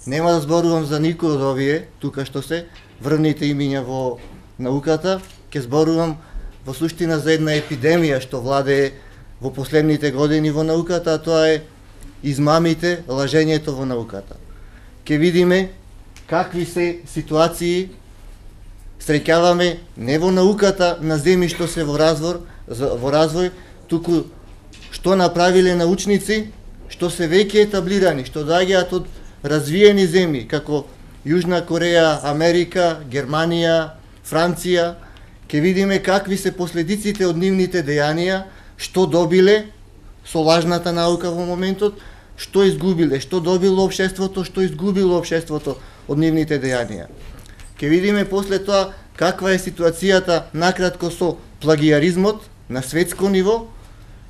Нема да зборувам за никој од овие, тука што се, врвните имиња во науката, ќе зборувам во суштина за една епидемија што владее во последните години во науката, а тоа е измамите, лажењето во науката. Ке видиме какви се ситуации среќаваме не во науката на земји што се во развој, туку што направиле научници, што се веќе етаблирани, што доаѓаат од развиени земји, како Јужна Кореја, Америка, Германија, Франција. Ке видиме какви се последиците од нивните дејанија, што добиле со лажната наука во моментот, што изгубиле, што добило општеството, што изгубило општеството од нивните дејанија. Ке видиме после тоа каква е ситуацијата накратко со плагиаризмот на светско ниво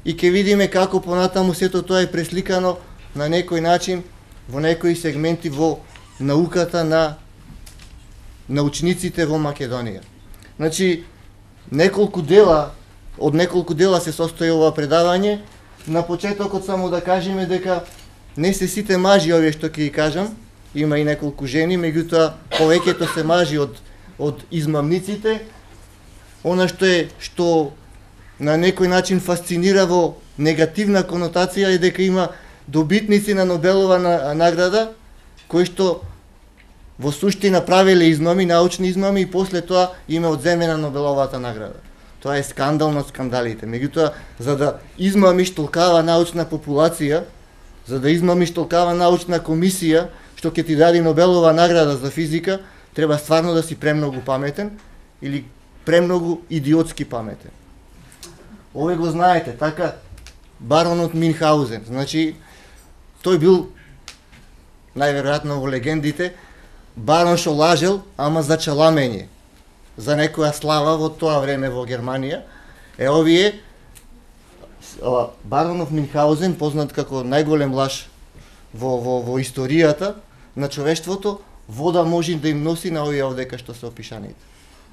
и ке видиме како понатаму сето тоа е пресликано на некој начин во некои сегменти во науката на научниците во Македонија. Значи, од неколку дела се состои ова предавање. На почетокот само да кажеме дека не се сите мажи овие што ќе ги кажам, има и неколку жени, меѓутоа повеќето се мажи од измамниците. Она што на некој начин фасцинира во негативна конотација е дека има добитници на Нобелова награда кои што во суштина правеле измами, научни измами и после тоа им е одземена Нобеловата награда. Тоа е скандал над скандалите. Меѓутоа, за да измамиш толкава научна популација, за да измамиш толкава научна комисија, што ќе ти даде Нобелова награда за физика, треба стварно да си премногу паметен или премногу идиотски паметен. Ове го знаете, така, баронот Минхаузен. Значи, тој бил, најверојатно во легендите, барон што лажел, ама за чаламење, за некоја слава во тоа време во Германија. Овие, баронов Минхаузен, познат како најголем лаж во историјата на човештвото, вода може да им носи на овие овдека што се опишаните.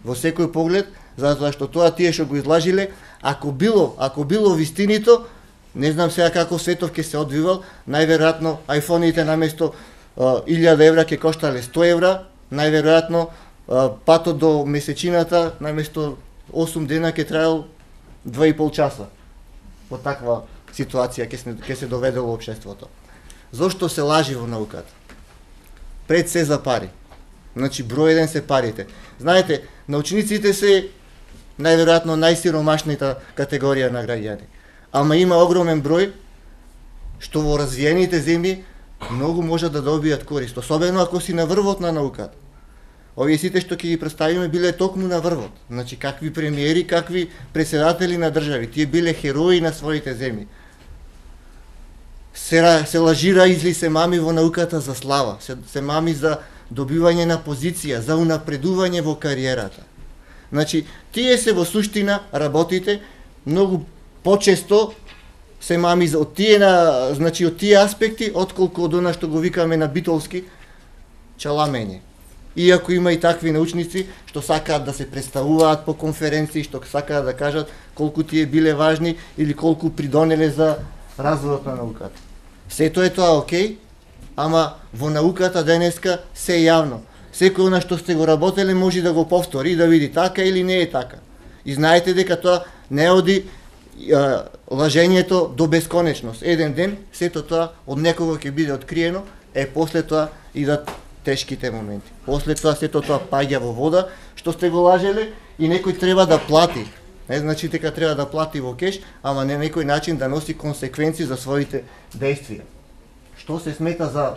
Во секој поглед, затоа што тоа тие што го излажиле, ако било вистинито, не знам сега како светов ќе се одвивал, најверојатно айфоните наместо 1000 евра ќе коштале 100 евра, најверојатно патот до месечината наместо 8 дена ќе траел 2,5 часа. Во таква ситуација ќе се доведело општеството. Зошто се лажи во науката? Пред се за пари. Значи, број еден се парите. Знаете, научниците се најверојатно најсиромашната категорија на граѓани. Ама има огромен број што во развиените земји многу можат да добијат корист, особено ако си на врвот на науката. Овие сите што ќе ги представиме биле токму на врвот. Значи, какви премиери, какви председатели на држави, тие биле херои на своите земји. Се лажира изли се мами во науката за слава, се мами за добивање на позиција, за унапредување во кариерата. Значи, тие се во суштина работите многу почесто се мами од тие аспекти, отколку од она што го викаме на битолски чаламење. Иако има и такви научници што сакаат да се представуваат по конференции, што сакаат да кажат колку тие биле важни или колку придонеле за развојот на науката. Сето е тоа окей, ама во науката денеска се јавно. Секој на што сте го работеле може да го повтори и да види така или не е така. И знаете дека тоа не оди лажењето до бесконечност. Еден ден сето тоа од некого ќе биде откриено, после тоа идат тешките моменти. После тоа сето тоа паѓа во вода, што сте го лажеле и некој треба да плати. Не значи дека треба да плати во кеш, ама на некој начин да носи консеквенции за своите действија. Што се смета за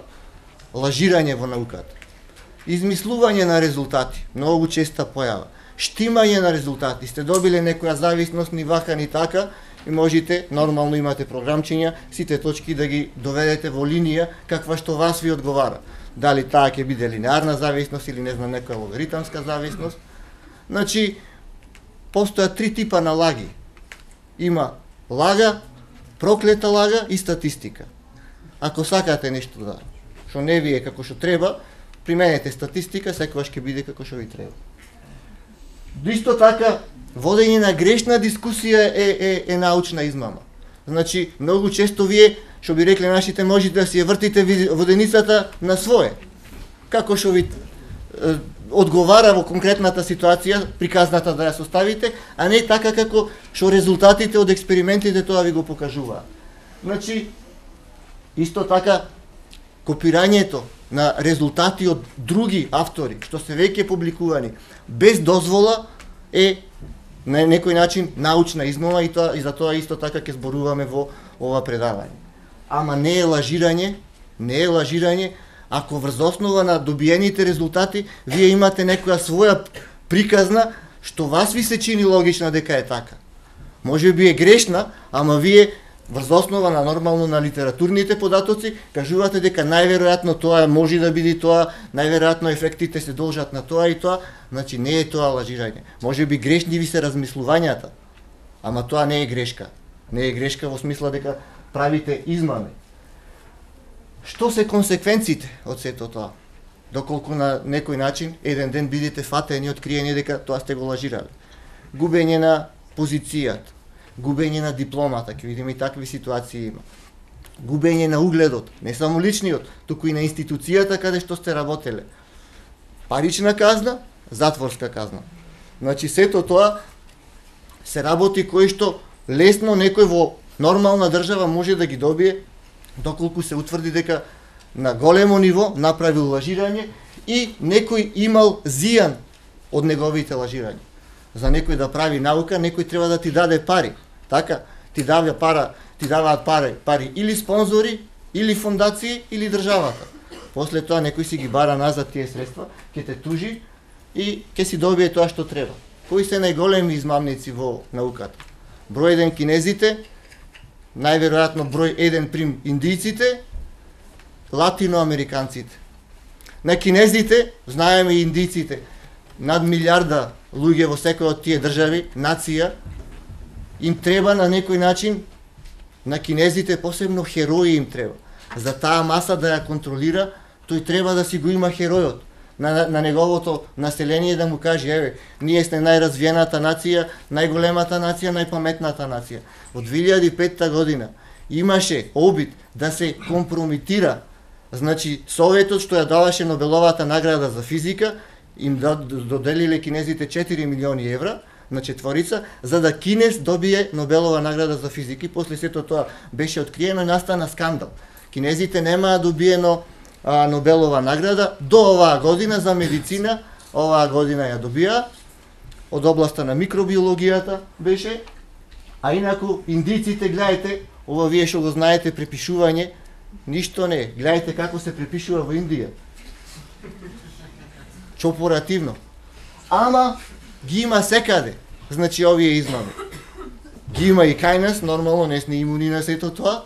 лажирање во науката? Измислување на резултати, многу честа појава. Штимање на резултати, сте добиле некоја зависност ни вака ни така и можете, нормално имате програмчиња, сите точки да ги доведете во линија каква што вас ви одговара. Дали таа ќе биде линеарна зависност или не знам некоја логаритамска зависност. Значи, постојат три типа на лаги. Има лага, проклета лага и статистика. Ако сакате нешто да што не ви е како што треба, применете статистика, секогаш ќе биде како што ви треба. Исто така, водење на грешна дискусија е научна измама. Значи, многу често вие, што би рекле нашите, можете да си ја вртите воденицата на свое. како што ви одговара во конкретната ситуација, приказната да ја составите, а не така како што резултатите од експериментите тоа ви го покажуваат. Значи, исто така, копирањето на резултати од други автори, што се веќе публикувани, без дозвола е на некој начин научна измама и за тоа исто така ќе зборуваме во ова предавање. Ама не е лажирање, ако врз основа на добиените резултати вие имате некоја своја приказна што вас ви се чини логична дека е така. Може би е грешна, ама вие врз основа на нормално на литературните податоци кажувате дека најверојатно тоа може да биде тоа, најверојатно ефектите се должат на тоа и тоа, значи не е тоа лажирање. Може би грешни ви се размислувањата, ама тоа не е грешка. Не е грешка во смисла дека правите измами. Што се консеквенците од сето тоа? Доколку на некој начин еден ден бидете фатени, откриени дека тоа сте го лажирали. Губење на позицијата, губење на дипломата, ќе видиме и такви ситуации има. Губење на угледот, не само личниот, туку и на институцијата каде што сте работеле. Парична казна, затворска казна. Значи сето тоа се работи кои што лесно некој во нормална држава може да ги добие доколку се утврди дека на големо ниво направил лажирање и некој имал зијан од неговите лажирања. За некој да прави наука, некој треба да ти даде пари. Така, ти даваат пари или спонзори, или фондации, или државата. После тоа некој си ги бара назад тие средства, ќе те тужи и ќе си добие тоа што треба. Кои се најголеми измамници во науката? Број 1 кинезите, најверојатно број 1 прим индијците, латиноамериканците. На кинезите, знаеме и индијците, над милиарда луѓе во секој од тие држави, нација, им треба на некој начин, на кинезите посебно херои им треба. За таа маса да ја контролира, тој треба да си го има херојот. На неговото население да му каже, еве, ние сме најразвиената нација, најголемата нација, најпаметната нација. Во 2005 година имаше обид да се компрометира, значи Советот што ја даваше Нобеловата награда за физика, им доделиле кинезите 4 милиони евра на четворица, за да Кинез добие Нобелова награда за физика и после сето тоа беше откриено и настана скандал. Кинезите немаа добиено Нобелова награда до оваа година за медицина, оваа година ја добија, од областа на микробиологијата беше, а инаку индиците, гледајте, ова вие што го знаете препишување, ништо не, гледајте како се препишува во Индија. Чопоративно. Ама ги има секаде, значи овие измами. Ги има и кај нас, нормално не сме имуни на сето тоа,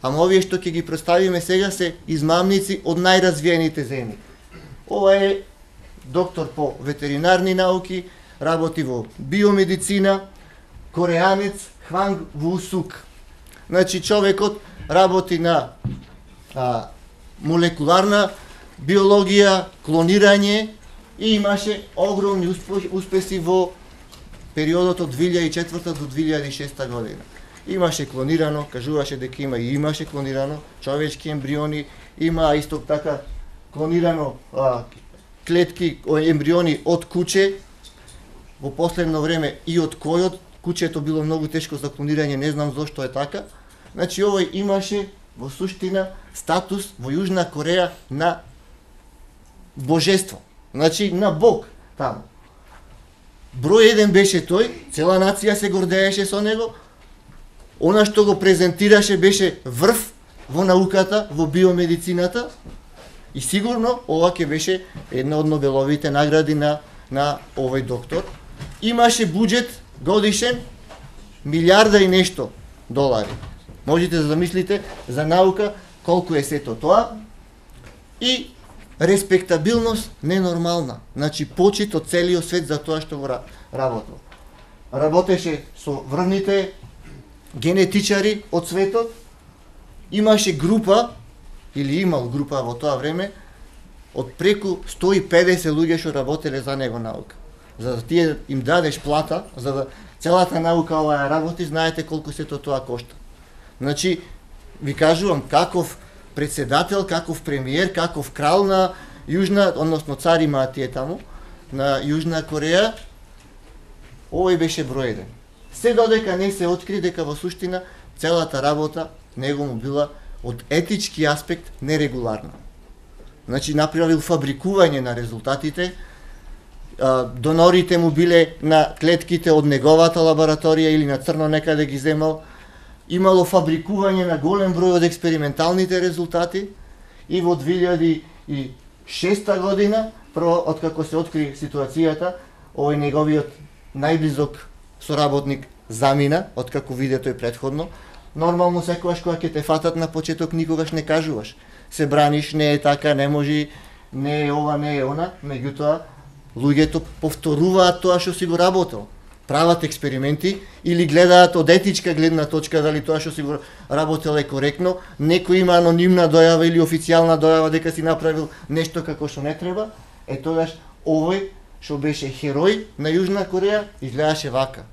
ама овие што ќе ги представиме сега се измамници од најразвиените земји. Ова е доктор по ветеринарни науки, работи во биомедицина, кореанец Хванг Вусук. Значи човекот работи на молекуларна биологија, клонирање и имаше огромни успеси во периодот од 2004 до 2006 година. Имаше клонирано, кажуваше дека има и имаше клонирано човечки ембриони, има исто така клонирано клетки, ембриони од куче. Во последно време и од којот, кучето било многу тешко за клонирање, не знам зошто е така. Значи овој имаше во суштина статус во Јужна Кореја на божество, значи на Бог таму. Број 1 беше тој, цела нација се гордееше со него. Она што го презентираше беше врв во науката, во биомедицината и сигурно ова ќе беше една од Нобеловите награди на овој доктор. Имаше буџет годишен милиарда и нешто долари. Можете да замислите за наука колку е сето тоа и респектабилност ненормална. Значи почит од целиот свет за тоа што го работел. Работеше со врвните генетичари од светот. Имаше група, или имал група во тоа време, од преку 150 луѓе што работеле за него наука. За да тие им дадеш плата, за да целата наука ова ја работи, знаете колку сето тоа кошта. Значи, ви кажувам, каков председател, каков премиер, каков крал на Јужна, односно царима тие таму, на Јужна Кореја, овој беше број 1. Се додека не се откри дека во суштина целата работа него му била од етички аспект нерегуларна. Значи направил фабрикување на резултатите, донорите му биле на клетките од неговата лабораторија или на црно некаде ги земал, имало фабрикување на голем број од експерименталните резултати и во 2006 година, прво откако се откри ситуацијата, овој неговиот најблизок соработник замина, откако виде тој предходно. Нормално секогаш кога ќе те фатат на почеток никогаш не кажуваш. Се браниш, не е така, не може, не е ова, не е она, меѓутоа луѓето повторуваат тоа што си го работел. Прават експерименти или гледаат од етичка гледна точка дали тоа што си го работел е коректно, некој има анонимна дојава или официјална дојава дека си направил нешто како што не треба, тогаш овој што беше херој на Јужна Кореја изгледаше вака.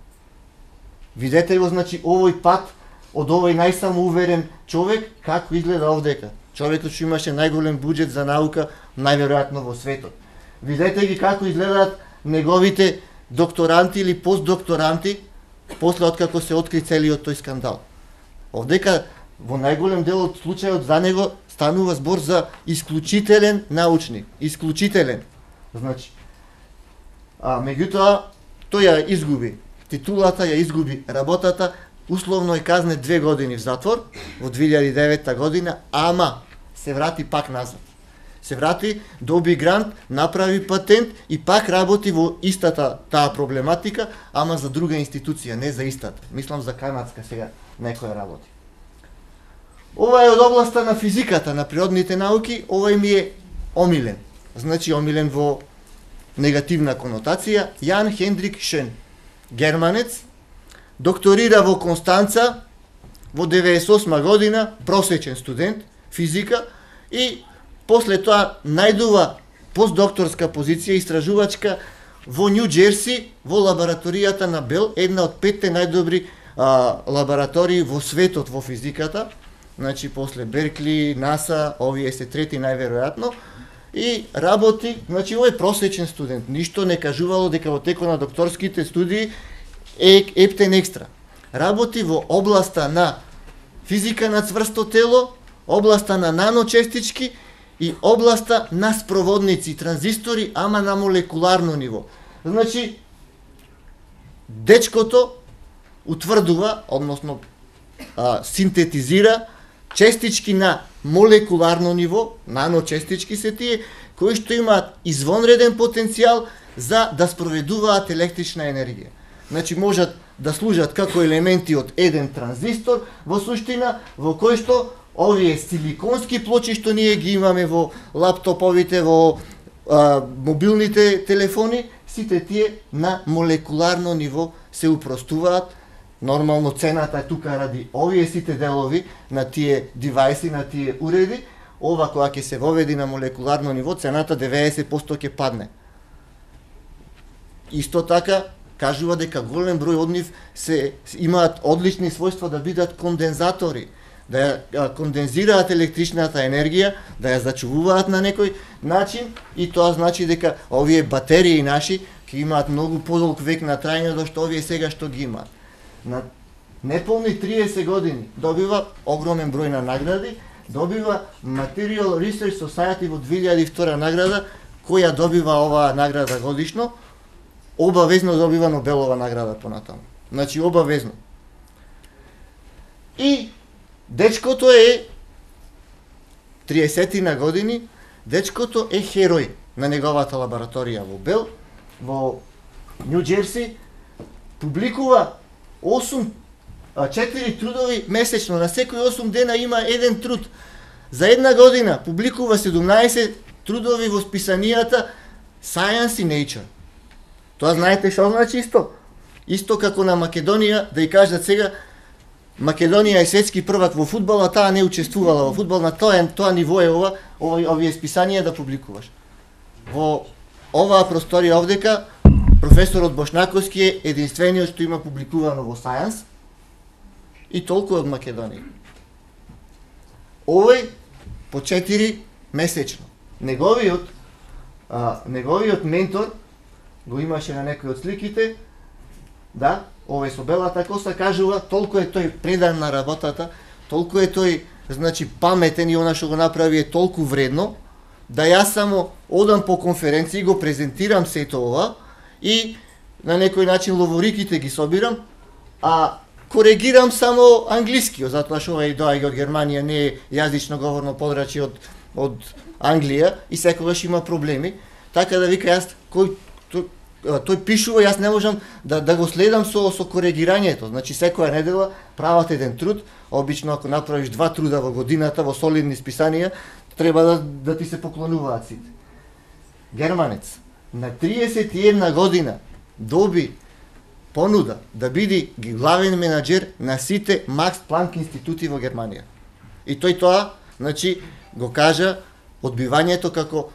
Видете го, значи, овој пат од овој најсамоуверен човек како изгледа овдека. Човекот што имаше најголем буџет за наука најверојатно во светот. Видете ги како изгледаат неговите докторанти или постдокторанти после откако се откри целиот тој скандал. Овдека во најголем дел од случајот за него станува збор за исклучителен научник, исклучителен. Значи, меѓутоа тој ја изгуби титулата, ја изгуби работата, условно е казнет 2 години в затвор во 2009 година, ама се врати пак назад. Се врати, доби грант, направи патент и пак работи во истата таа проблематика, ама за друга институција, не за истата. Мислам за канадска сега некоја работи. Ова е од областа на физиката, на природните науки, овој ми е омилен. Значи омилен во негативна конотација, Јан Хендрик Шен, германец, докторира во Констанца во 98 година, просечен студент, физика, и после тоа најдува постдокторска позиција истражувачка во Нью Џерси, во лабораторијата на Бел, една од 5 најдобри лаборатории во светот во физиката, значи после Беркли, НАСА, овие се трети најверојатно, и работи, значи овој просечен студент, ништо не кажувало дека во текот на докторските студии е ептен екстра. Работи во областа на физика на цврсто тело, областа на наночестички и областа на спроводници, транзистори, ама на молекуларно ниво. Значи, дечкото утврдува, односно синтетизира честички на молекуларно ниво, наночестички се тие, кои што имаат извонреден потенцијал за да спроведуваат електрична енергија. Значи, можат да служат како елементи од еден транзистор, во суштина, во кој што овие силиконски плочи што ние ги имаме во лаптоповите, во мобилните телефони, сите тие на молекуларно ниво се упростуваат. Нормално цената е тука ради овие сите делови на тие девајси, на тие уреди. Ова кога ќе се воведи на молекуларно ниво, цената 90% ќе падне. Исто така, кажува дека голем број од нив имаат одлични својства да бидат кондензатори, да ја кондензираат електричната енергија, да ја зачувуваат на некој начин, и тоа значи дека овие батерии наши ќе имаат многу подолг век на трајање од што овие сега што ги имаат. На неполни 30 години добива огромен број на награди, добива Material Research Society во 2002 награда, која добива оваа награда годишно, обавезно добива Нобелова награда понатаму. Значи обавезно. И дечкото е 30 на години, дечкото е херој на неговата лабораторија во Бел, во Нью Џерси, публикува 4 трудови месечно, на секој 8 дена има еден труд. За една година публикува 17 трудови во списанијата Science и Nature. Тоа знаете што значи исто? Исто како на Македонија, да ја кажат сега, Македонија е светски првак во фудбал, а таа не учествувала во фудбал, на тоа ниво е овие списанија да публикуваш. Во оваа просторија овдека, професорот Бошнаковски е единствениот што има публикувано во Science и толку од Македонија. Овој по 4 месечно. Неговиот неговиот ментор го имаше на некој од сликите, да, овој со белата коса кажува, толку е тој предан на работата, толку е тој, значи, паметен и она што го направи е толку вредно, да јас само одам по конференции, го презентирам сето ова и на некој начин ловориките ги собирам, а коригирам само англискиот, затоа што овој доаѓа од Германија, не е јазично говорно подрачје од Англија и секогаш има проблеми. Така да вика јас тој пишува, јас не можам да го следам со коригирањето. Значи секоја недела прават еден труд, обично ако направиш 2 труда во годината во солидни списанија, треба да ти се поклонуваат сите. Германец на 31 година доби понуда да биде главен менаџер на сите Макс Планк институти во Германија. И тој тоа, значи, го кажа одбивањето како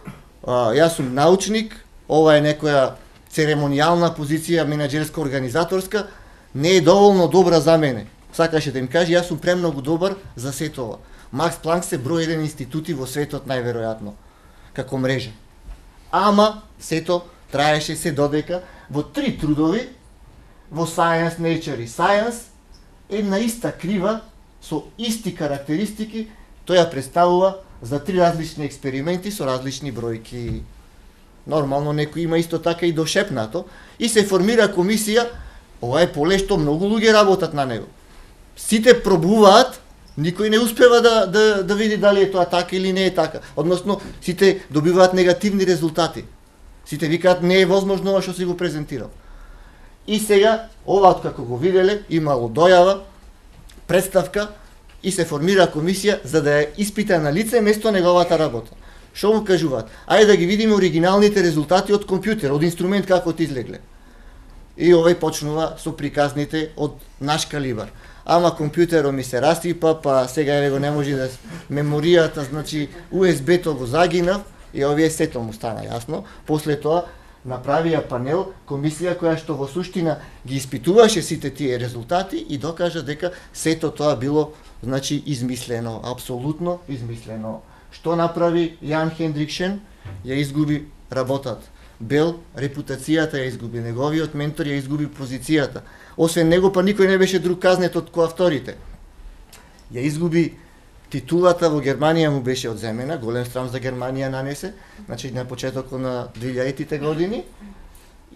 јас сум научник, ова е некоја церемонијална позиција, менаџерска, организаторска, не е доволно добра за мене. Сакаше да им каже, јас сум премногу добар за сето ова. Макс Планк се број 1 институти во светот најверојатно, како мрежа. Ама, сето траеше се додека во 3 трудови, во Science, Nature и Science, една иста крива, со исти карактеристики, тој ја представува за 3 различни експерименти со различни бројки. Нормално некој има исто така и дошепнато, и се формира комисија, ова е поле што многу луѓе работат на него. Сите пробуваат, никој не успева да види дали е тоа така или не е така. Односно, сите добиваат негативни резултати. Сите викаат не е возможно ова што си го презентирал. И сега, ова како го виделе, имало дојава, представка и се формира комисија за да ја испита на лице место неговата работа. Што му кажуваат? Ајде да ги видиме оригиналните резултати од компјутер, од инструмент како ти излегле. И овој почнува со приказните од наш калибар. Ама компјутерот ми се расипа, па сега еве го не може да меморијата, значи USB-то го загинав и овие сето му стана јасно. После тоа направија панел, комисија која што во суштина ги испитуваше сите тие резултати и докажа дека сето тоа било, значи, измислено, апсолутно измислено. Што направи Јан Хендрикшен? Ја изгуби работата. Бел репутацијата ја изгуби, неговиот ментор ја изгуби позицијата. Освен него, па никој не беше друг казнет од коавторите. Ја изгуби титулата во Германија, му беше одземена, голем срам за Германија нанесе, значи на почетокот на 2000-тите години.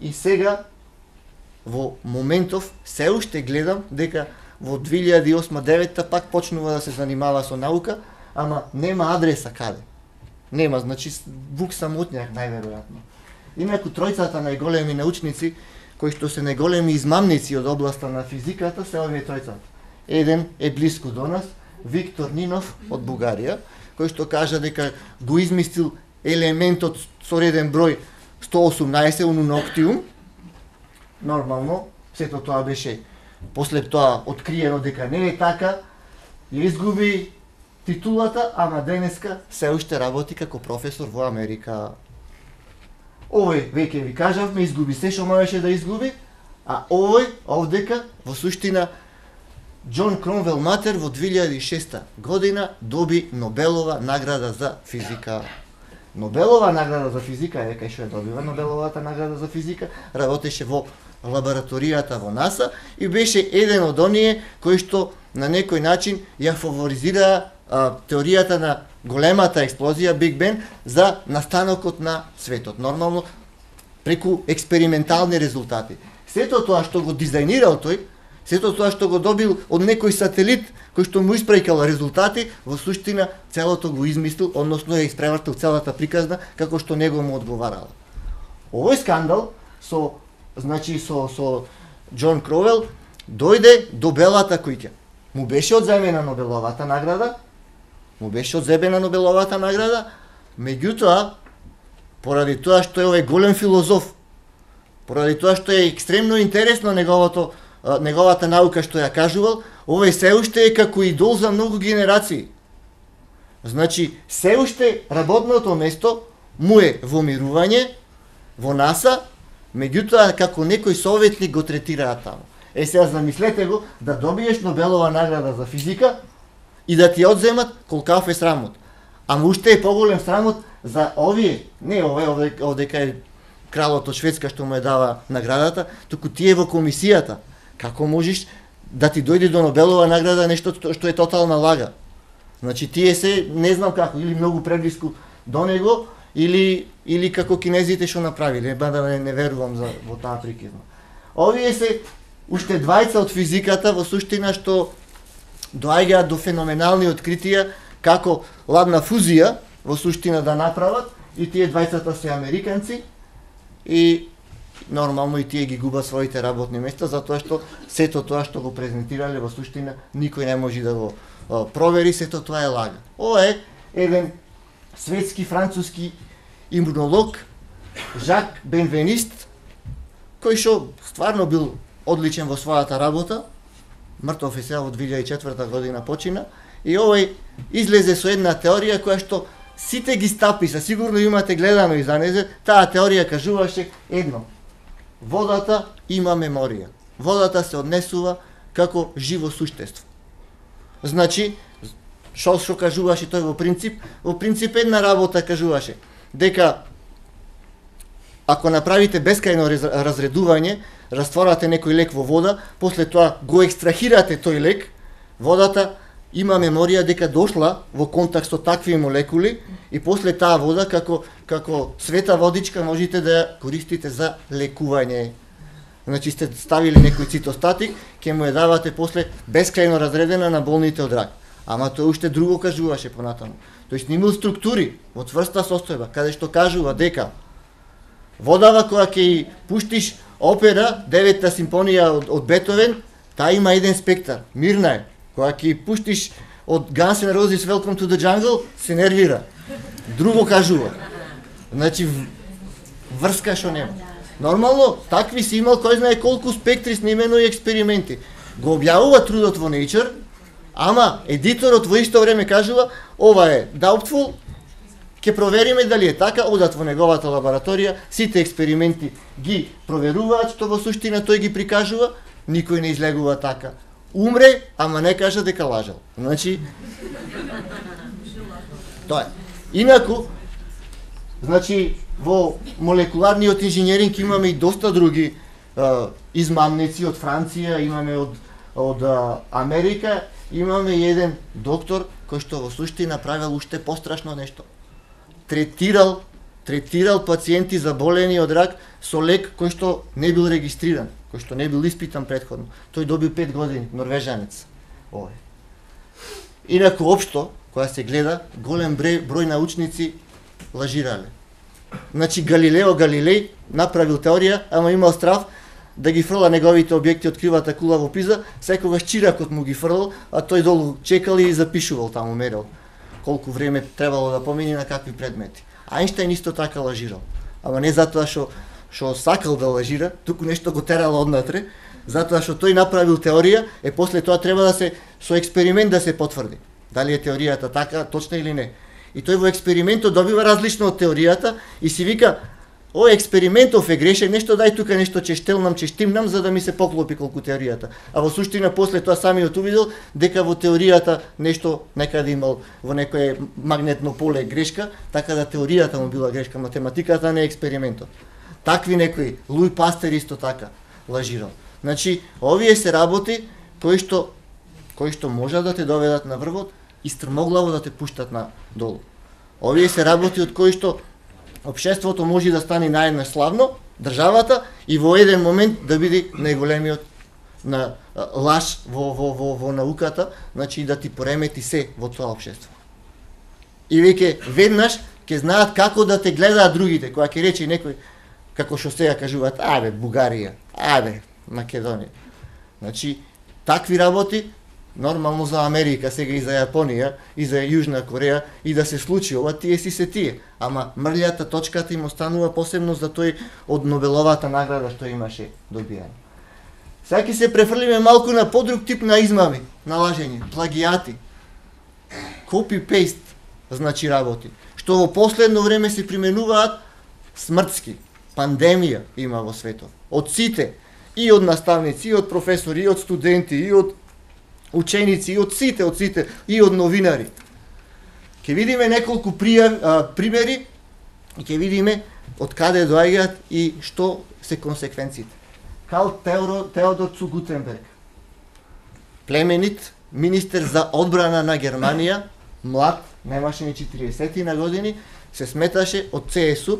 И сега, во моментов, се уште гледам дека во 2008-2009 пак почнува да се занимава со наука, ама нема адреса каде. Нема, значи вук самотњак најверојатно. Инаку тројцата најголеми научници кои што се најголеми измамници од областа на физиката се овие тројцата. Еден е блиску до нас, Виктор Нинов од Бугарија, кој што кажа дека го измислил елементот со реден број 118 унуноктиум. Нормално, сето тоа беше после тоа откриено дека не е така, ја изгуби титулата, ама денеска се уште работи како професор во Америка. Овој, веќе ви кажавме, изгуби се што можеше да изгуби, а овој, овдека, во суштина, Џон Кронвел Матер во 2006 година доби Нобелова награда за физика. Нобелова награда за физика, кај што ја добива Нобеловата награда за физика, работеше во лабораторијата во НАСА и беше еден од оние кои што на некој начин ја фаворизира теоријата на големата експлозија Биг Бен за настанокот на светот. Нормално преку експериментални резултати. Сето тоа што го дизајнирал тој, сето тоа што го добил од некој сателит кој што му испраќал резултати, во суштина целото го измислил, односно ја испревртил целата приказна како што него му одговарала. Овој скандал со Џон Кронвел дојде до Белата куќа. Му беше одземена Нобеловата награда, меѓутоа, поради тоа што е овој голем филозоф, поради тоа што е екстремно интересно неговата наука што ја кажувал, овој се уште е како идол за многу генерации. Значи, се уште работното место му е во мирување, во НАСА, меѓутоа како некој советник го третираат таму. Сега замислете го да добиеш Нобелова награда за физика и да ти одземат колкав е срамот. Ама уште е поголем срамот за овие, не овде кај кралот од Шведска што му е дава наградата, туку тие во комисијата. Како можеш да ти дојде до Нобелова награда нешто што е тотална лага? Значи тие се не знам како, или многу преблиску до него, или како кинезите што направиле, бада не верувам во таа прикизна. Овие се уште двајца од физиката во суштина што доаѓаат до феноменални откритија како ладна фузија во суштина да направат, и тие двајцата се американци, и нормално и тие ги губат своите работни места, затоа што сето тоа што го презентирале во суштина никој не може да го провери, сето тоа е лага. Ова е еден светски француски имунолог, Жак Бенвенист, кој што стварно бил одличен во својата работа, мртов е сега во 2004 година почина, и овој излезе со една теорија која што сите ги стапи, са сигурно имате гледано и за незе, таа теорија кажуваше едно: водата има меморија. Водата се однесува како живо суштество. Значи, што кажуваше тој во принцип? Во принцип една работа кажуваше дека ако направите бескајно разредување, растворате некој лек во вода, после тоа го екстрахирате тој лек, водата има меморија дека дошла во контакт со такви молекули, и после таа вода како света водичка можете да ја користите за лекување. Значи сте ставили некој цитостатик, ќе му ја давате после бескајно разредена на болните од рак. Ама тој уште друго кажуваше понатаму. Тој снимил структури во цврста состојба, каде што кажува дека водава која ќе ја пуштиш опера, 9-та симфонија од Бетовен, таа има еден спектар, мирна е. Која ќе ја пуштиш од Guns N' Roses Welcome to the Jungle, се нервира. Друго кажува. Значи, врска што нема. Нормално, такви си имал кој знае колку спектри снимено и експерименти. Го објавува трудот во Nature, ама едиторот во исто време кажува: ова е doubtful, ќе провериме дали е така, одат во неговата лабораторија, сите експерименти ги проверуваат, што во суштина тој ги прикажува, никој не излегува така. Умре, ама не кажа дека лажал. Значи, тоа е. Инаку, значи, во молекуларниот инженеринг имаме и доста други измамници од Франција, имаме од Америка, имаме еден доктор кој што во суштина правил уште пострашно нешто. Третирал пациенти заболени од рак со лек кој што не бил регистриран, кој што не бил испитан претходно. Тој добил 5 години, норвежанец. Овој. Инаку општо, кога се гледа, голем број научници лажирале. Значи Галилео Галилеј направил теорија, ама имал страв да ги фрла неговите објекти од кривата кула во Пиза, секогаш чиракот му ги фрлал, а тој долу чекал и запишувал таму, мерил колку време требало да помине на какви предмети. Ајнштајн исто така лажирал. Ама не затоа што сакал да лажира, туку нешто го терало однатре, затоа што тој направил теорија, после тоа треба да се со експеримент да се потврди дали е теоријата така точна или не. И тој во експериментот добива различно од теоријата и си вика: ој експериментов е грешен, нешто дај тука нешто ќе штимнам за да ми се поклопи колку теоријата. А во суштина после тоа самиот увидел дека во теоријата нешто некаде имал во некое магнетно поле грешка, така да теоријата му била грешка, математиката не е експериментот. Такви некои, Луи Пастер исто така лажирал. Значи, овие се работи кои што можат да те доведат на врвот и стрмоглаво да те пуштат на долу. Овие се работи од кои што општеството може да стане наеднаш славно, државата, и во еден момент да биде најголемиот на лаж во науката, значи да ти поремети се во тоа општество. И веќе веднаш ќе знаат како да те гледаат другите, кога ќе рече некој, како што сега кажуваат: ајбе Бугарија, ајбе Македонија. Значи, такви работи нормално за Америка, сега и за Јапонија, и за Јужна Кореја, и да се случи ова, тие си се тие. Ама мрлјата точката им останува посебно за тој од Нобеловата награда што имаше добијано. Сега ќе се префрлиме малку на подруг тип на измами, на лажење, плагијати. Copy-paste, значи работи, што во последно време се применуваат смртски. Пандемија има во светот. Од сите, и од наставници, и од професори, и од студенти, и од ученици, и од сите, и од новинари. Ќе видиме неколку примери и ќе видиме од каде доаѓаат и што се консеквенциите. Карл Теодор цу Гутенберг, племенит министер за одбрана на Германија, млад, немаше ни 40 на години, се сметаше од ЦСУ,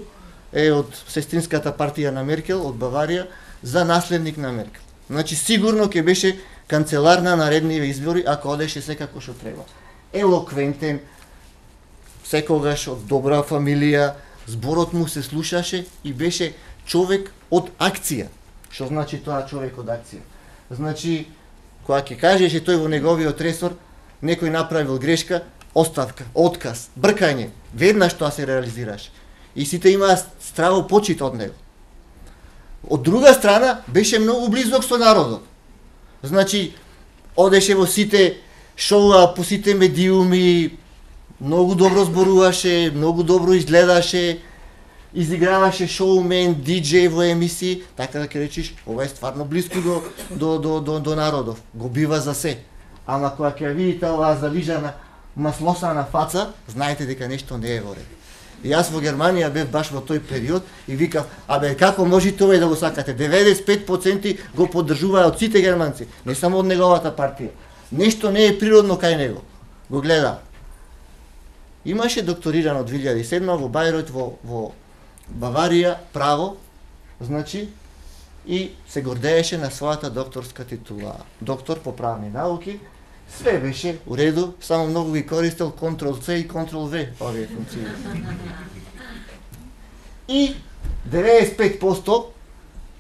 од сестринската партија на Меркел, од Баварија, за наследник на Меркел. Значи сигурно ќе беше канцелар на наредниве избори ако одеше секако што треба. Елоквентен, секогаш од добра фамилија, зборот му се слушаше и беше човек од акција. Што значи тоа човек од акција? Значи, кога ќе кажеше тој во неговиот ресор, некој направил грешка, оставка, отказ, бркање, веднаш тоа се реализираше. И сите имаа страво почит од него. Од друга страна, беше многу близок со народот. Значи, одеше во сите шоуа, по сите медиуми, многу добро зборуваше, многу добро изгледаше, изиграваше шоумен, диџеј во емисии, така да ќе речиш, ова е стварно близко до народов, го бива за се. Ама кога ќе видите оваа залижана, маслосана фаца, знаете дека нешто не е во ред. И јас во Германија бев баш во тој период и викав, абе како можете овој да го сакате? 95% го поддржуваат сите германци, не само од неговата партија. Нешто не е природно кај него. Го гледам. Имаше докторирано 2007 во Бајройт во Баварија право, значи, и се гордееше на својата докторска титула. Доктор по правни науки, све беше у реду, само многу ги користел Ctrl-C и Ctrl-V овие функции. И 95%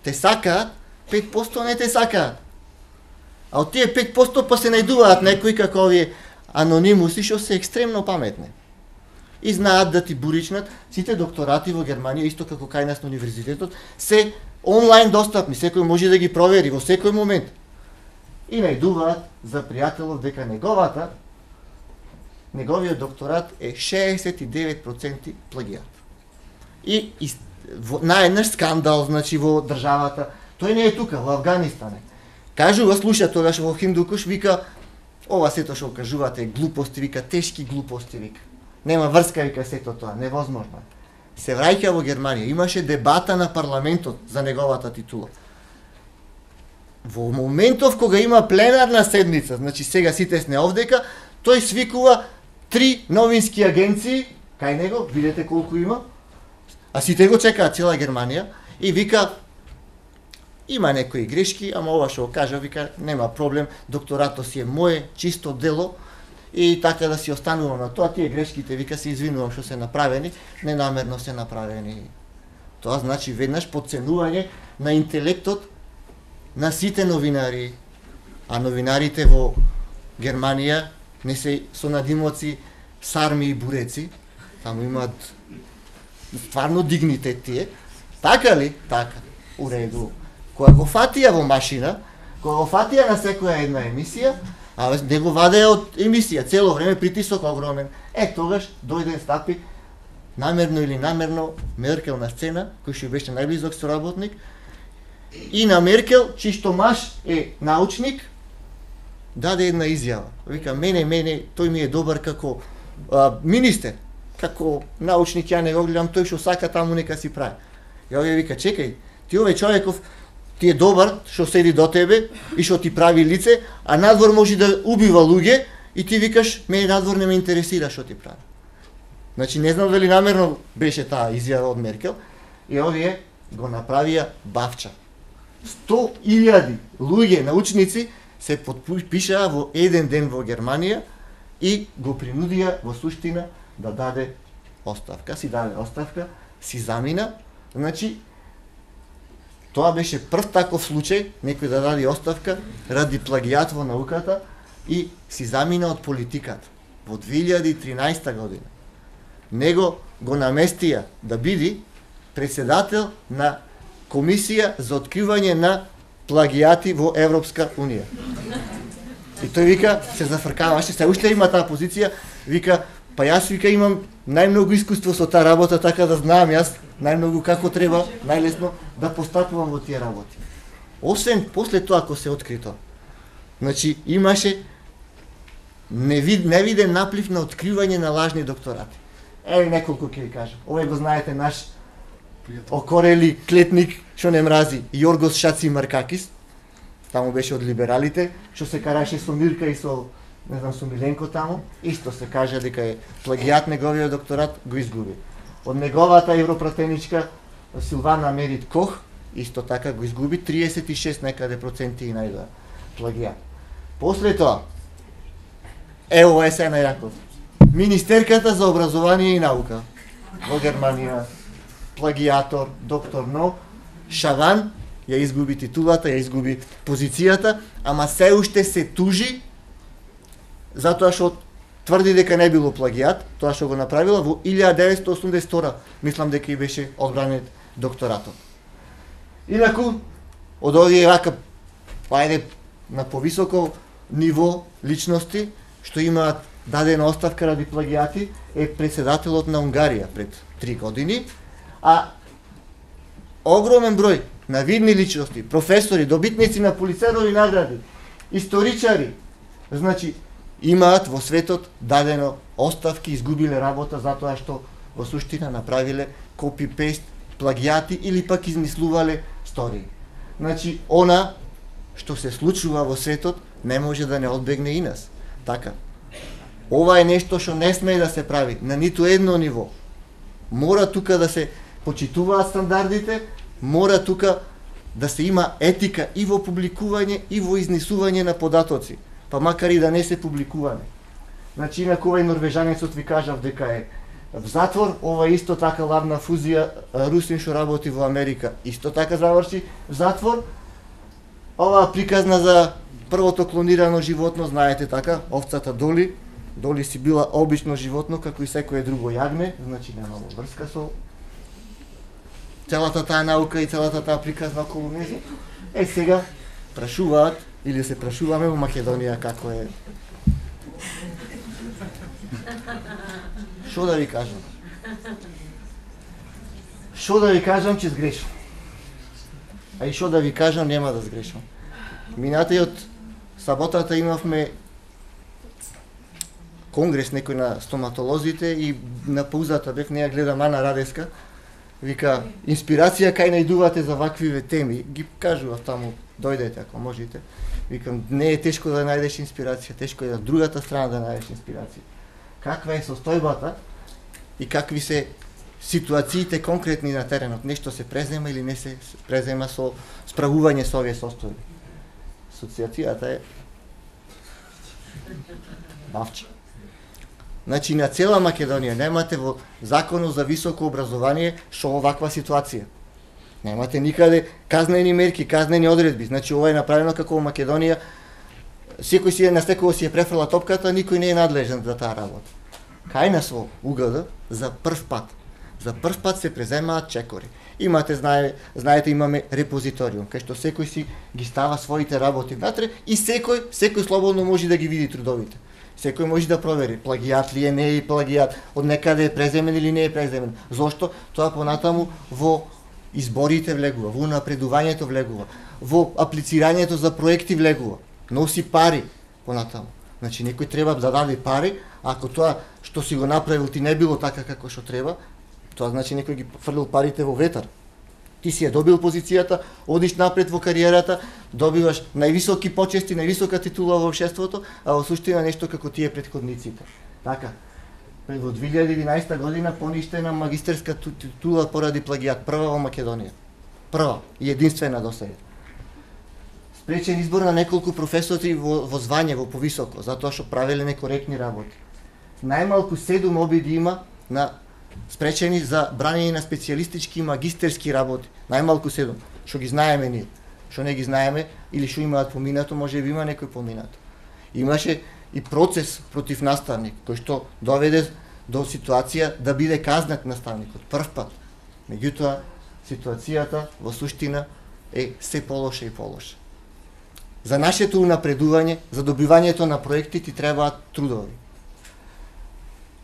те сакаат, 5% не те сакаат. А од тие 5% па се најдуваат некои како овие анонимуси што се екстремно паметни. И знаат да ти буричнат. Сите докторати во Германија, исто како кај нас на универзитетот, се онлайн достапни, секој може да ги провери во секој момент. И најдуваат за пријателов дека неговиот докторат е 69% плагиат. И наеднаш скандал, значи, во државата. Тој не е тука, во Афганистан е. Кажува, слуша тогаш во Хиндукуш, вика, ова сето што кажувате глупости, вика, тешки глупости, вика. Нема врска, вика, сето тоа, невозможно. Се враќа во Германија, имаше дебата на парламентот за неговата титула. Во моментов кога има пленарна седница, значи сега сите сме овдека, тој свикува 3 новински агенции, кај него, видете колку има, а сите го чекаат цела Германија, и вика, има некои грешки, ама ова што го кажа, вика, нема проблем, докторато си е моје, чисто дело, и така да си останувам на тоа, тие грешките, вика, се извинувам што се направени, ненамерно се направени. Тоа значи веднаш подценување на интелектот на сите новинари, а новинарите во Германија не се со надимоци сарми и буреци, таму имаат стварно дигнитет тие. Така ли? Така. У реду. Кога го фатија во машина, кога го фатија на секоја една емисија, а не го вадеа од емисија, цело време притисок огромен. Тогаш дојде стапи, намерно или намерно, Меркел на сцена, кој што беше најблизок соработник, и на Меркел, чишто маж е научник, даде една изјава. Вика, мене, тој ми е добар како министер, како научник, ја не го гледам, тој што сака таму нека си прави. И овие вика, чекај, ти овој човеков, ти е добар што седи до тебе и што ти прави лице, а надвор може да убива луѓе и ти викаш, мене надвор не ме интересира што ти прави. Значи, не знам дали намерно беше таа изјава од Меркел, и овие го направија бавча. 100.000 луѓе, научници, се подпишаа во еден ден во Германија и го принудија во суштина да даде оставка. Си даде оставка, си замина. Значи, тоа беше прв таков случај, некој да даде оставка ради плагијат во науката и си замина од политиката во 2013 година. Него го наместија да биде председател на комисија за откривање на плагијати во Европска унија. И тој вика, се зафркаваше, се уште има таа позиција, вика, па јас вика имам најмногу искуство со таа работа, така да знаам јас најмногу како треба, најлесно да постапувам во тие работи. Освен после тоа ако се откри тоа. Значи имаше не виден наплив на откривање на лажни докторати. Еве неколку ќе ви кажам. Овој го знаете, наш окорели клетник што не мрази, Јоргос Шацимаркакис, таму беше од либералите, што се караше со Мирка и со, не знам, со Миленко таму, исто се кажа дека е плагиат, неговиот докторат го изгуби. Од неговата европратеничка Силвана Мерит Кох, исто така го изгуби, 36 некаде проценти и најдоа плагиат. После тоа, ево е се најаков. Министерката за образование и наука во Германија, плагиатор, доктор Но, Шаван, ја изгуби титулата, ја изгуби позицијата, ама се уште се тужи затоа што тврди дека не било плагиат, тоа што го направила во 1982, мислам дека и беше одбранет докторатот. Инаку, од овие вака, ајде, на повисоко ниво личности, што имаат дадена оставка ради плагиати, е председателот на Унгарија пред 3 години, а огромен број на видни личности, професори, добитници на Пулицерови награди, историчари, значи, имаат во светот дадено оставки, изгубиле работа затоа што во суштина направиле копи-пейст, плагиати или пак измислувале стории. Значи, она што се случува во светот не може да не одбегне и нас. Така. Ова е нешто што не смее да се прави на ниту едно ниво. Мора тука да се почитуваат стандардите, мора тука да се има етика и во публикување и во изнесување на податоци, па макар и да не се публикуване. Значи, инаку овај норвежанецот ви кажав дека е в затвор, ова исто така лавна фузија, русин што работи во Америка, исто така заврши в затвор. Ова приказна за првото клонирано животно, знаете така, овцата Доли. Доли си била обично животно, како и секое друго јагне, значи немало врска со целата таа наука и целата таа приказна околу неја. Сега прашуваат, или се прашуваме во Македонија како е. Што да ви кажам? Што да ви кажам, че сгрешам. А и што да ви кажам, нема да сгрешам. Минатиот саботата имавме конгрес некој на стоматолозите и на паузата бев, неја гледам Ана Радеска, вика, инспирација кај најдувате за ваквиве теми, ги кажува таму, дојдете ако можете. Викам, не е тешко да најдеш инспирација, тешко е на другата страна да најдеш инспирација. Каква е состојбата и какви се ситуациите конкретни на теренот, нешто се презема или не се презема со справување со овие состојби. Асоциацијата е бавче. Значи, на цела Македонија немате во законот за високо образование што оваква ситуација. Немате никаде казнени мерки, казнени одредби. Значи, ова е направено како во Македонија. Секој си е на секој си е префрла топката, никој не е надлежен за таа работа. Кај нас во УГД за прв пат. За прв пат се преземаат чекори. Имате, знаете, имаме репозиториум, кај што секој си ги става своите работи внатре и секој слободно може да ги види трудовите. Секој може да провери плагиат ли е, не е плагиат, од некаде е преземен или не е преземен. Зошто? Тоа понатаму во изборите влегува, во напредувањето влегува, во аплицирањето за проекти влегува. Носи пари понатаму. Значи некој треба да даде пари, ако тоа што си го направил ти не било така како што треба, тоа значи некој ги фрлил парите во ветар. Ти си ја добил позицијата, одиш напред во кариерата, добиваш највисоки почести, највисока титула во општеството, а во суштина нешто како тие претходниците. Така, во 2011 година поништена магистерска титула поради плагиат, прва во Македонија. Прва и единствена до сега. Спречен избор на неколку професори во звање, во повисоко, затоа што правеле некоректни работи. Најмалку 7 обиди има на спречени за брањење на специјалистички и магистерски работи. Најмалку 7, што ги знаеме ние. Што не ги знаеме или што имаат поминато, може би има некој поминато. Имаше и процес против наставник, кој што доведе до ситуација да биде казнет наставникот прв пат. Меѓутоа, ситуацијата во суштина е се полоша и полоша. За нашето унапредување, за добивањето на проекти ти требаат трудови.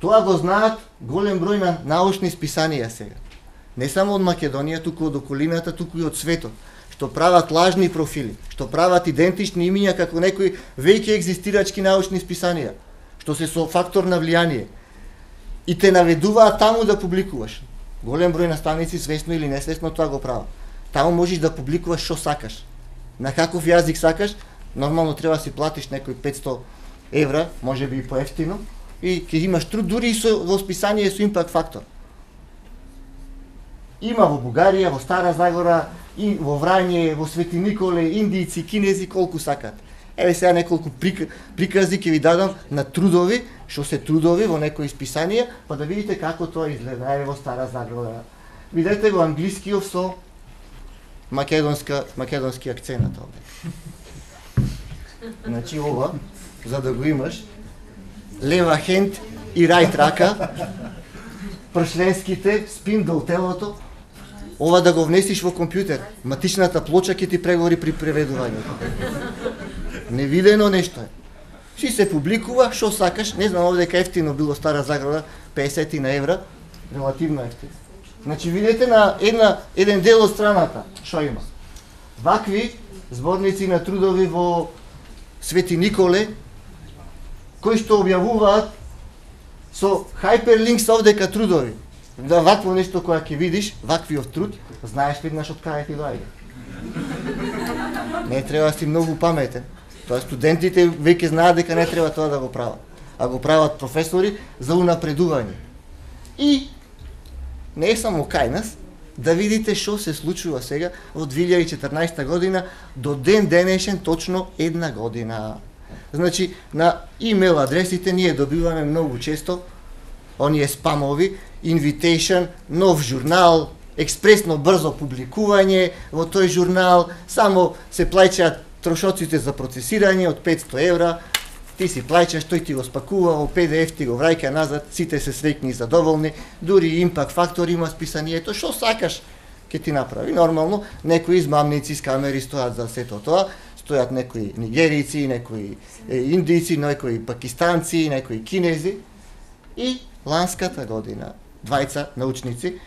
Тоа го знаат голем број на научни списанија сега. Не само од Македонија, туку од околината, туку и од светот, што прават лажни профили, што прават идентични имиња како некои веќе екзистирачки научни списанија. што се со фактор на влијание и те наведуваат таму да публикуваш. Голем број наставници свесно или несвесно тоа го прават. Таму можеш да публикуваш што сакаш. На каков јазик сакаш, нормално треба да си платиш некои 500 евра, може би и поевтино, и ќе имаш труд дури и со восписание со импакт фактор. Има во Бугарија, во Стара Загора, и во Врање, во Свети Николе, индијци, кинези, колку сакат. Еве сега неколку прикази ќе ви дадам на трудови, што се трудови во некои списанија, па да видите како тоа изгледа. Еве во Стара Загора. Видете го англискиот со македонски акценат овде. Значи ова, за да го имаш, лева хенд и рајт рака, пршленските, спиндл телото, ова да го внесиш во компјутер, матичната плоча ќе ти прегори при преведувањето. Невидено нешто е. Си се публикува, што сакаш, не знам овде дека ефтино било Стара Заграда, 50 на евра, релативно ефтино. Значи видите на еден дел од страната, што има. Вакви зборници на трудови во Свети Николе, кои што објавуваат со хайперлинкс овдека трудови. Да вакво нешто кога ќе видиш, ваквиот труд, знаеш веднаш од кај ти доаѓа. Не треба да си многу паметен. Тоа студентите веќе знаат дека не треба тоа да го прават, а го прават професори за унапредување. И не е само кај нас, да видите што се случува сега во 2014 година до ден денешен точно една година. Значи, на имейл адресите ние добиваме многу често оние спамови, invitation, нов журнал, експресно брзо публикување во тој журнал, само се плаќаат трошоците за процесирање од 500 евра, ти си плаќаш, тој ти го спакува, во PDF ти го враќа назад, сите се среќни и задоволни, дури импакт фактор има списанието, што сакаш ќе ти направи. Нормално, некои измамници с камери стојат за сето тоа, стојат некои нигерици, некои индијци, некои пакистанци, некои кинези. И ланската година, двајца научници,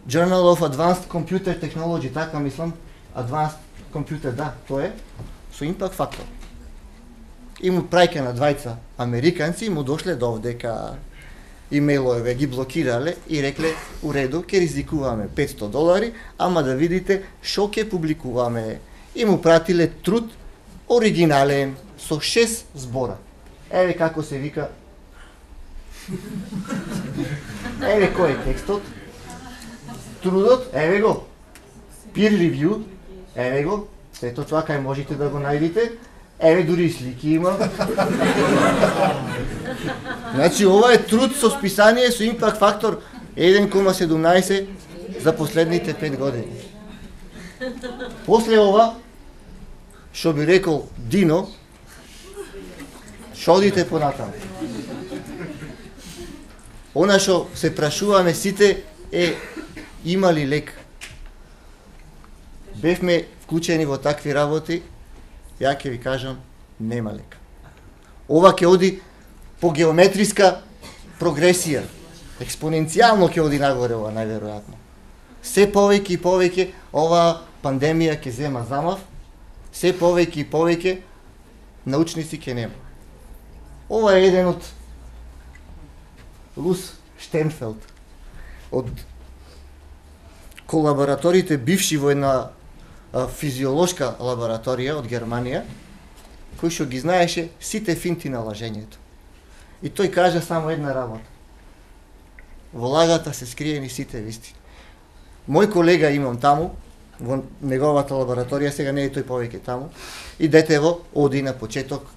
Journal of Advanced Computer Technology, така мислам, Advanced Computer, да, тоа е, со импакт фактор. И му праќа на двајца американци и му дошле до овдека имейлове, ги блокирале и рекле, у реду, ќе ризикуваме $500, ама да видите шо ќе публикуваме. И му пратиле труд оригинален, со 6 збора. Еве како се вика. Еве кој е текстот. Трудот, еве го. Peer review, еве го. Сето тоа кај можете да го најдете. Еве дури слики има. Значи ова е труд со списание со импакт фактор 1,17 за последните 5 години. После ова, што би рекол Дино, шодите понатаму. Она што се прашуваме сите е има ли лек. Бевме вклучени во такви работи, ја ќе ви кажам, нема лек. Ова ќе оди по геометриска прогресија. Експоненцијално ќе оди нагоре ова, најверојатно. Се повеќе и повеќе ова пандемија ќе зема замав, се повеќе и повеќе научници ќе нема. Ова е еден од Лус Штенфелд, од колабораторите бивши во една физиолошка лабораторија од Германија, кој што ги знаеше сите финти на лажењето. И тој кажа само една работа. Во лагата се скриени сите вистини. Мој колега имам таму, во неговата лабораторија, сега не е тој повеќе таму, и детево оди на почеток,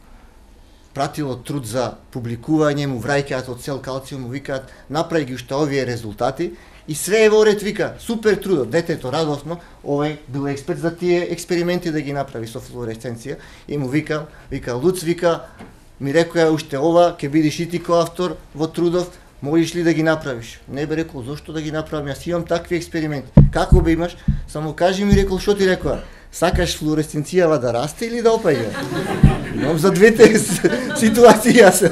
пратило труд за публикување, му враќаат од цел калциум, му викаат, направи ги уште овие резултати, и све е во ред, вика, супер трудот, детето радосно, овој бил експерт за тие експерименти да ги направи со флуоресценција, и му вика, Луц, вика, ми рекоја уште ова, ќе бидеш и ти коавтор во трудов, можеш ли да ги направиш? Не бе рекол, зошто да ги направам, јас имам такви експерименти. Како бе имаш? Само кажи ми, рекол, што ти рекоа? Сакаш флуоресценцијава да расте или да опаѓа? Имам за двете ситуации јас.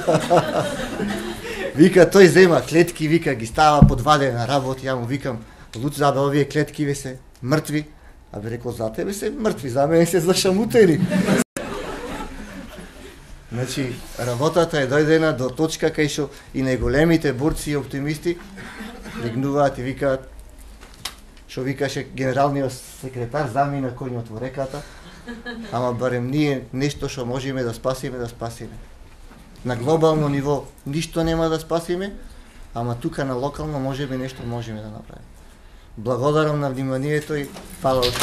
Вика, тој зема клетки, вика, ги става под ваде на работа, ја му викам, Луц, забе, овие клетки ве се мртви. А бе рекол, за тебе се мртви, за мене се зашамутени. Значи, работата е дојдена до точка кај што и најголемите борци и оптимисти легнуваат и викаат, што викаше генералниот секретар, замина коњот во реката, ама барем ние нешто што можеме да спасиме, да спасиме. На глобално ниво ништо нема да спасиме, ама тука на локално можеме нешто можеме да направиме. Благодарам на вниманието и фала од